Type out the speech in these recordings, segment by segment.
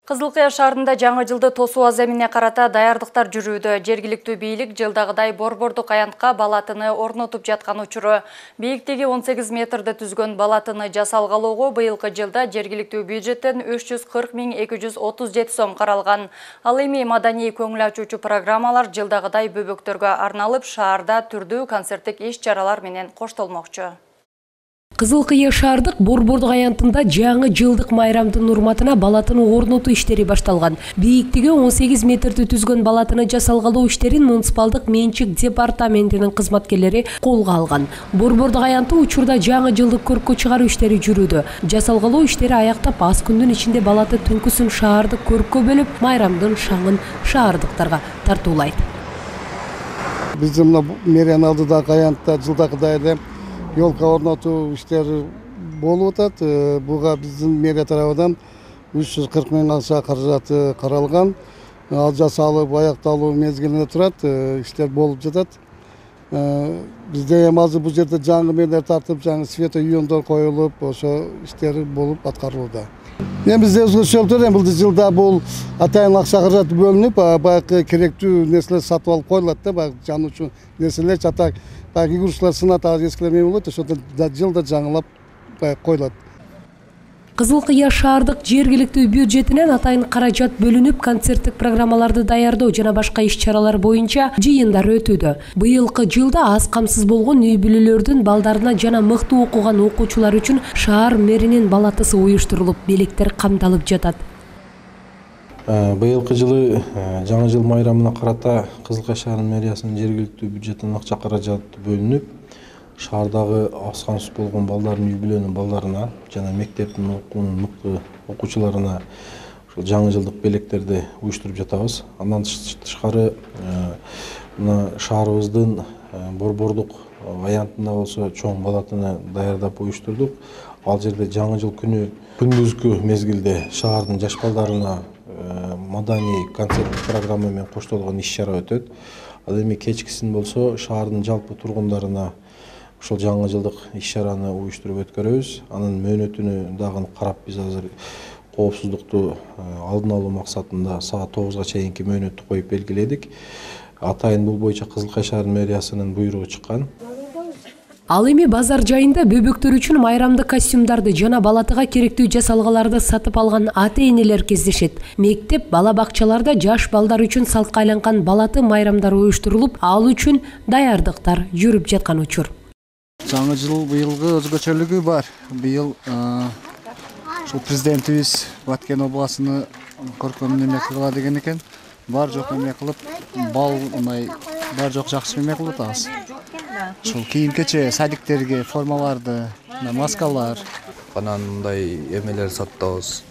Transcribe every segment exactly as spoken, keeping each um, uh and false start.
Кызыл Кыя шаарында жаңы жылды тосуу аземине карата даярдыктар жүрүүдө. Жергиликтүү бийлик жылдагыдай борбордук аянтка балатыны орнотуп жаткан учуру. Бийиктиги он сегиз метрди түзгөн балатыны жасалгалоого быйылкы жылда жергиликтүү бюджеттен үч жүз кырк миң эки жүз отуз жети сом каралган. Ал эми маданий көңүл ачуучу программалар жылдагыдай бөбөктөргө арналып, шаарда түрдүү концерттик иш-чаралар менен коштолмокчу. Кызыл Кыя шаардык борбордук аянтында жаңы жылдык майрамдын урматына балатыны орнотуу иштери башталган. Бийиктиги он сегиз метрди түзгөн балатыны жасалгалоо иштерин муниципалдык менчик департаментинин кызматкерлери колго алган. Борбордук аянты учурда жаңы жылдык көрккө чыгаруу иштери жүрүүдө. Жасалгалоо иштери аяктап, аз күндүн ичинде балаты түнкүсүн шаардык көрккө бөлүп, майрамдын шаңын шаардыктарга тартуулайт. Биздин мэриянын алдындагы аянтта жылдагыдай эле Yolka ornatуу иштери болуп атат. Буга биздин мэрия тарабынан үч жүз кырк миң акча каражаты каралган. Ал жасалып аякталуу мезгилине турат, иштер болуп жатат. Бизде эми азыр бул жерде жаңы мээлер тартып, жаңы светоюондор коюлуп, ошо иштер болуп аткарылууда. Эми бизде өзгөчөлүктөр бул жылда бул атайын акча каражаты бөлүнүп, баягы керектүү нерселер сатып алып коюлат да, баягы жануучу нерселер жатак. Баягы игрушкалар сынат эскилер эме болот, ошондо жылда жаңылап коюлат. Кызыл Кыя шаардык жергиликтүү бюджетинен атайын каражат бөлүнүп, концерттик программаларды даярдоо жана башка иш-чаралар боюнча жыйындар өтүүдө. Быйылкы жылда аз камсыз болгон үй бүлөлөрдүн балдарына жана мыкты окуган окуучулар үчүн шаар мэринин балатысы уюштурулуп, белектер камталып жатат. Быйылкы жылы жаңы жыл майрамына карата Кызыл Кыя шаарынын мэриясынын жергиликтүү бюджетинен акча каражаты бөлүнүп, шаардагы аз камсыз болгон балдардын үй бүлөнүн балдарына жана мектептин мыкты окуучуларына жаңы жылдык белектерди уюштуруп жатабыз. Андан тышкары мына шаарыбыздын борбордук аянтында болсо чоң балатыны даярдап уюштурдук. Ал жерде жаңы жыл күнү күндүзгү мезгилде шаардын жаш балдарына маданий концерттик программа менен коштолгон иш-чара өтөт. Ал эми кечкисин болсо шаардын жалпы тургундарына ошол жаңы жылдык иш-чараны уюштуруп өткөрөбүз. Анын мөөнөтүнү дагы карап, биз азыр коопсуздукту алдын алуу максатында саат тогузга чейинки мөөнөттү коюп белгиледик. Атайын бул боюнча Кызыл Кыя шаарынын мэриясынын буйругу чыккан. Ал эми базар жайында бөбөктөр үчүн майрамдык костюмдарды жана балатыга керектүү жасалгаларды сатып алган ата-энелер кездешет. Мектеп, бала бакчаларда жаш балдар үчүн салтка айланган балаты майрамдар уюштурулуп, ал үчүн даярдыктар жүрүп жаткан учур. Жаңы жыл быйылгы өзгөчөлүгү бар. Быйыл ушул президентибиз Баткен областыны көркөм неме кыла деген экен. Бар жок эме кылып, бал мындай бар жок жакшы эме кылып атабыз. Ушул кийим-кече, садиктерге формаларды, маскалар, анан мындай эмелер сатабыз.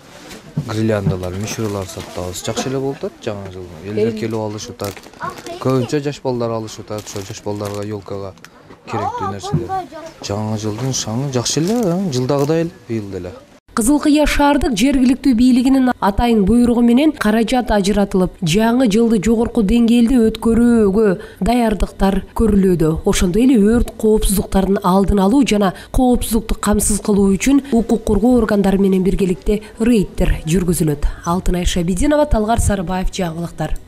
Гирляндалар, мишуралар сатабыз. Жакшы эле болуп атат жаңы жыл. Элдер келип алышып атат. Көбүнчө жаш балдар алышып атат. Ошо жаш балдарга ёлкага керектүү нерселер. Жаңы жылдын шаңы жакшы эле, жылдагыдай эле, быйыл деле. Кызыл Кыя шаардык жергиликтүү бийлигинин атайын буйругу менен каражат ажыратылып, жаңы жылды жогорку деңгээлде өткөрүүгө даярдыктар көрүлүүдө. Ошондой эле өрт коопсуздуктарын алдын алуу жана коопсуздукту камсыз кылуу үчүн укук коргоо органдары менен биргеликте рейдтер жүргүзүлөт. Алтынай Шабидинова, Талгар Сарыбаев, жаңылыктар.